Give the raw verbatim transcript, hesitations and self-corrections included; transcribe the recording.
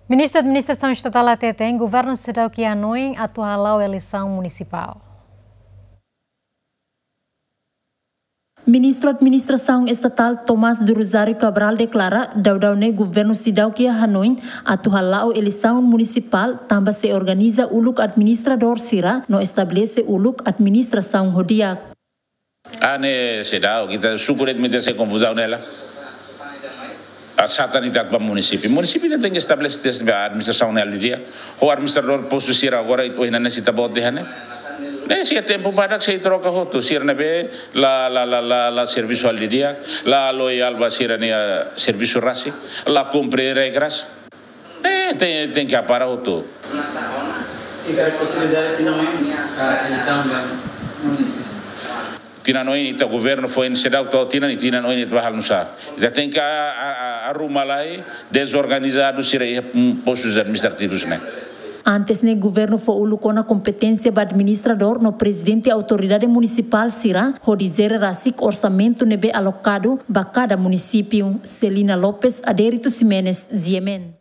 Ministru Administrasaun Estatál hateten, governu seidauk iha hanoin atu hala'o eleisaun munisipál. Ministru Administrasaun Estatál Tomás do Rosário Cabral deklara, daudaun ne'e governu seidauk iha hanoin atu hala'o eleisaun munisipál, tanba sei organiza uluk administradór sira no estabelese uluk administrasaun ho di'ak. Ah, ne'e seidauk, ita suku de'it mak ita sei konfuzaun ne'e la. Ah, sá tan ita ba munisípiu. Munisípiu ita tenke estabelese teste ba administrasaun ne'e halo di'ak. Ho administradór postu sira agora, ohin ne'e ita-boot dehan ne'e. Ne'e sei iha tempu badak sei troka hotu. Sira ne'ebé la, la, la, la, la servisu halo di'ak, la loyal ba sira-nia servisu rasik, la kumpre regras. Eh, ten, tenke hapara hotu. Sira posibilidade tinan oin, ah, eleisaun ba munisípiu. Tinan oin ita governu foin seidauk to'o tinan, i tinan oin ita bá halo nusá. Ita tenke a, a, a, arruma lai dezorganizadu sira iha, mm, postus administrativus ne'e. Antes ne'e governu fó uluk ona kompeténsia ba administradór no prezidente autoridade munisipál sira hodi jere rasik orsamentu ne'ebé alokadu ba kada munisípiu. Celina Lopes, Adérito Ximenes, G M N.